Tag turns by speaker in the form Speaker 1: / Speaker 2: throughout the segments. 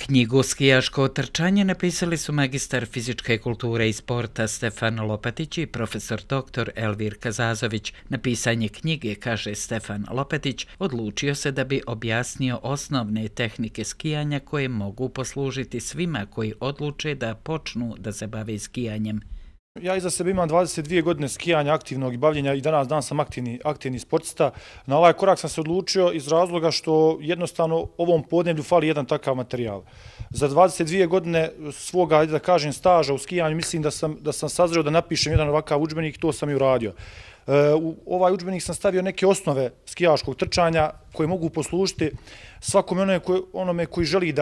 Speaker 1: Knjigu Skijaško trčanje napisali su magistar fizičke kulture i sporta Stefan Lopetić i profesor dr. Elvir Kazazović. Na pisanje knjige, kaže Stefan Lopetić, odlučio se da bi objasnio osnovne tehnike skijanja koje mogu poslužiti svima koji odluče da počnu da se bave skijanjem.
Speaker 2: Ja iza sebe imam 22 godine skijanja aktivnog i bavljenja i danas sam aktivni sportista. Na ovaj korak sam se odlučio iz razloga što jednostavno ovom podneblju fali jedan takav materijal. Za 22 godine svoga, da kažem, staža u skijanju mislim da sam sazreo da napišem jedan ovakav udžbenik i to sam i uradio. U ovaj udžbenik sam stavio neke osnove skijaškog trčanja koje mogu poslužiti svakome onome koji želi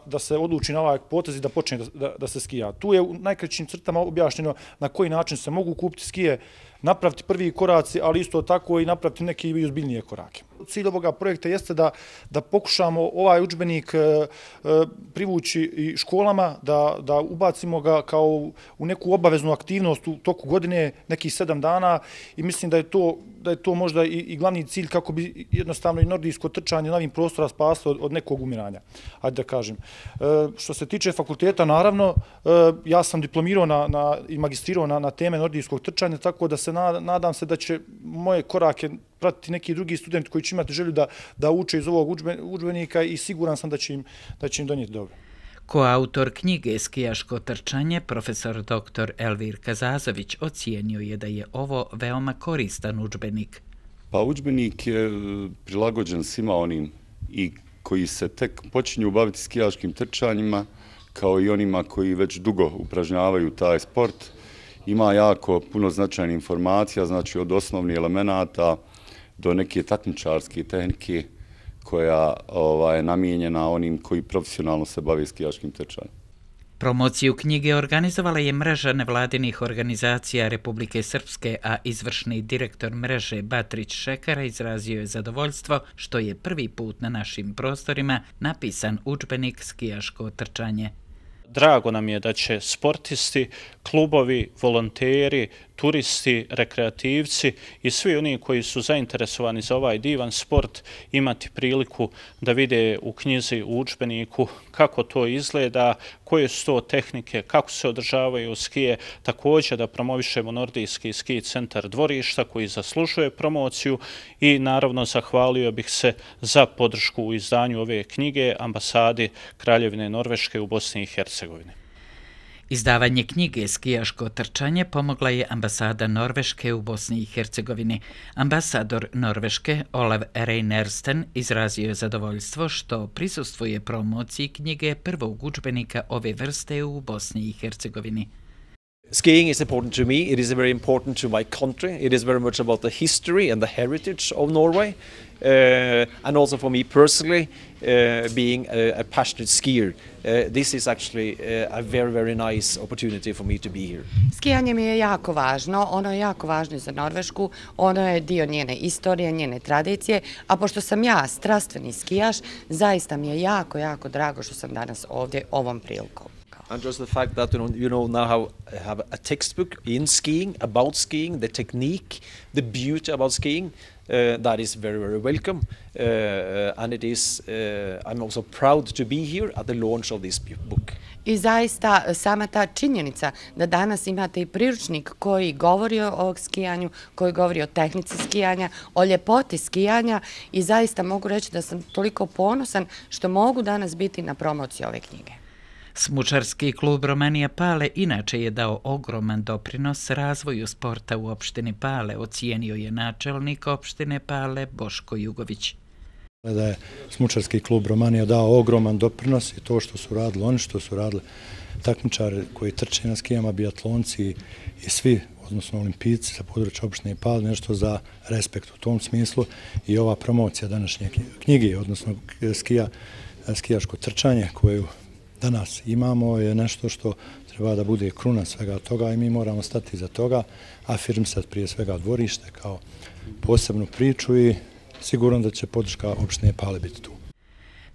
Speaker 2: da se odluči na ovaj potez i da počne da se skija. Tu je u najkraćim crtama objašnjeno na koji način se mogu kupiti skije, napraviti prvi koraci, ali isto tako i napraviti neke i ozbiljnije korake. Cilj ovoga projekta jeste da pokušamo ovaj udžbenik privući i školama, da ubacimo ga kao u neku obaveznu aktivnost u toku godine, nekih 7 dana i mislim da je to možda i glavni cilj kako bi jednostavno i nordijsko trčanje na ovim prostora spaslo od nekog umiranja. Hajde da kažem. Što se tiče fakulteta, naravno, ja sam diplomirao i magistrirao na teme nordijskog trčanja, tako da se nadam se da će moje korake pratiti neki drugi studenti koji će imati želju da uče iz ovog udžbenika i siguran sam da će im donijeti dobro.
Speaker 1: Koautor knjige Skijaško trčanje, profesor dr. Elvir Kazazović, ocijenio je da je ovo veoma koristan udžbenik.
Speaker 3: Pa udžbenik je prilagođen svima onim i koji se tek počinju baviti skijaškim trčanjima, kao i onima koji već dugo upražnjavaju taj sport. Ima jako puno značajnih informacija, znači od osnovnih elemenata do neke takmičarske tehnike koja je namijenjena onim koji profesionalno se bave skijaškim trčanjem.
Speaker 1: Promociju knjige organizovala je mreža nevladinih organizacija Republike Srpske, a izvršni direktor mreže Batrić Šekara izrazio je zadovoljstvo što je prvi put na našim prostorima napisan udžbenik Skijaško trčanje.
Speaker 4: Drago nam je da će sportisti, klubovi, volonteri, turisti, rekreativci i svi oni koji su zainteresovani za ovaj divan sport imati priliku da vide u knjizi, u udžbeniku kako to izgleda, koje su to tehnike, kako se održavaju skije, također da promovišemo Nordijski ski centar Dvorišta koji zaslužuje promociju i naravno zahvalio bih se za podršku u izdanju ove knjige ambasadi Kraljevine Norveške u Bosni i Hercegovini.
Speaker 1: Izdavanje knjige Skijaško trčanje pomogla je ambasada Norveške u Bosni i Hercegovini. Ambasador Norveške Olav Reinersten izrazio je zadovoljstvo što prisustvuje promociji knjige prvog udžbenika ove vrste u Bosni i Hercegovini.
Speaker 5: Skiing is important to me. It is very important to my country. It is very much about the history and the heritage of Norway. And also for me personally, being a passionate skier, this is actually a very, very nice opportunity for me to be here.
Speaker 6: Skijanje mi je jako važno. Ono je jako važno za Norvešku. Ono je dio njene istorije, njene tradicije. A pošto sam ja strastveni skijaš, zaista mi je jako, jako drago što sam danas ovdje ovom prilikom.
Speaker 5: And just the fact that you know now have a textbook in skiing, about skiing, the technique, the beauty about skiing, that is very, very welcome. And it is, I'm also proud to be here at the launch of this book.
Speaker 6: I zaista sama ta činjenica da danas imate i priručnik koji govori o skijanju, koji govori o tehnici skijanja, o ljepoti skijanja i zaista mogu reći da sam toliko ponosan što mogu danas biti na promociji ove knjige.
Speaker 1: Smučarski klub Romanija Pale inače je dao ogroman doprinos razvoju sporta u opštini Pale, ocijenio je načelnik opštine Pale Boško Jugović.
Speaker 7: Da je Smučarski klub Romanija dao ogroman doprinos i to što su radili oni, što su radili takmičari koji trče na skijama, biatlonci i svi, odnosno olimpijci sa područja opštine Pale, nešto za respekt u tom smislu i ova promocija današnje knjige, odnosno skijaško trčanje koju danas imamo je nešto što treba da bude kruna svega toga i mi moramo stati za toga, afirmisati prije svega Dvorište kao posebnu priču i sigurno da će podrška opštine Pale biti tu.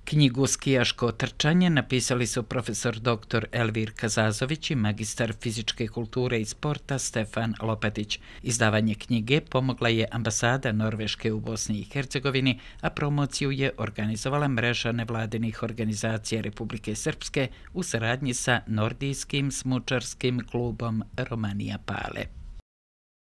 Speaker 1: Knjigu Skijaško trčanje napisali su profesor dr. Elvir Kazazović i magistar fizičke kulture i sporta Stefan Lopetić. Izdavanje knjige pomogla je ambasada Norveške u Bosni i Hercegovini, a promociju je organizovala mreža nevladinih organizacija Republike Srpske u saradnji sa Nordijskim smučarskim klubom Romanija Pale.